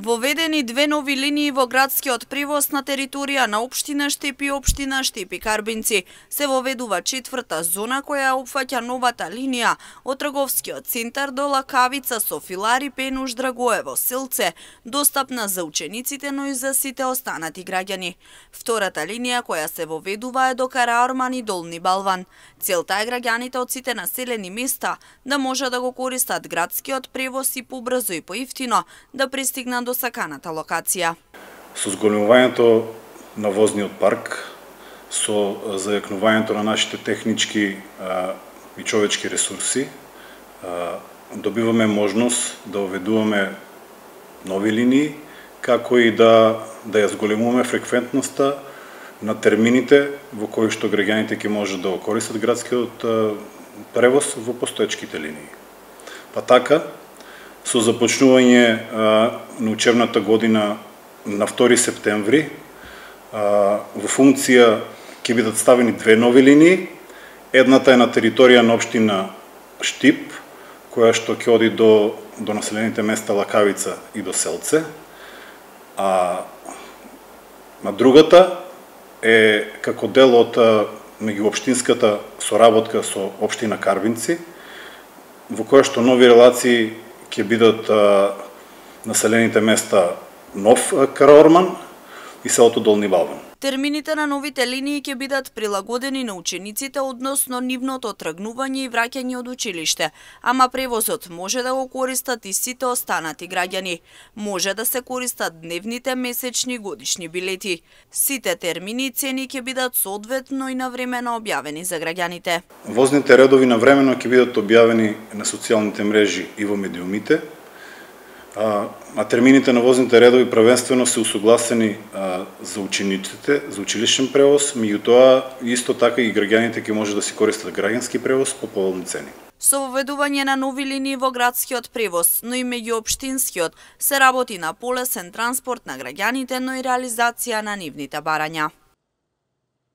Воведени две нови линии во градскиот превоз на територија на општина Штип и општина Штип и Карбинци. Се воведува четврта зона која опфаќа новата линија од трговскиот центар до Лакавица со Филари, Пенуш, Драгоево, Силце, достапна за учениците, но и за сите останати граѓани. Втората линија која се воведува е до Караорман и Долни Балван. Целта е граѓаните од сите населени места да може да го користат градскиот превоз и побрзо и поевтино да пристигнат до саканата локација. Со зголемувањето на возниот парк, со зајакнувањето на нашите технички и човечки ресурси, добиваме можност да оведуваме нови линии, како и да ја зголемуваме фреквентноста на термините во кои што граѓаните ќе можат да го користат градскиот превоз во постоечките линии. Па така, со започнување на учебната година на 2 септември, во функција ќе бидат ставени две нови линии. Едната е на територија на општина Штип, која што ќе оди до населените места Лакавица и до Селце, а на другата е како дел од меѓуопштинската соработка со општина Карбинци, во која што нови релации ќе бидат населените места Нов Караорман и селото Долни Балван. Термините на новите линии ќе бидат прилагодени на учениците односно нивното тргнување и враќање од училиште, ама превозот може да го користат и сите останати граѓани. Може да се користат дневните, месечни, годишни билети. Сите термини и цени ќе бидат соодветно и навремено објавени за граѓаните. Возните редови навремено ќе бидат објавени на социјалните мрежи и во медиумите, а термините на возните редови првенствено се усогласени за учениците, за училишен превоз, меѓутоа исто така и граѓаните ќе може да си користат граѓански превоз по поволни цени. Со воведување на нови линии во градскиот превоз, но и меѓуопштинскиот, се работи на полесен транспорт на граѓаните, но и реализација на нивните барања.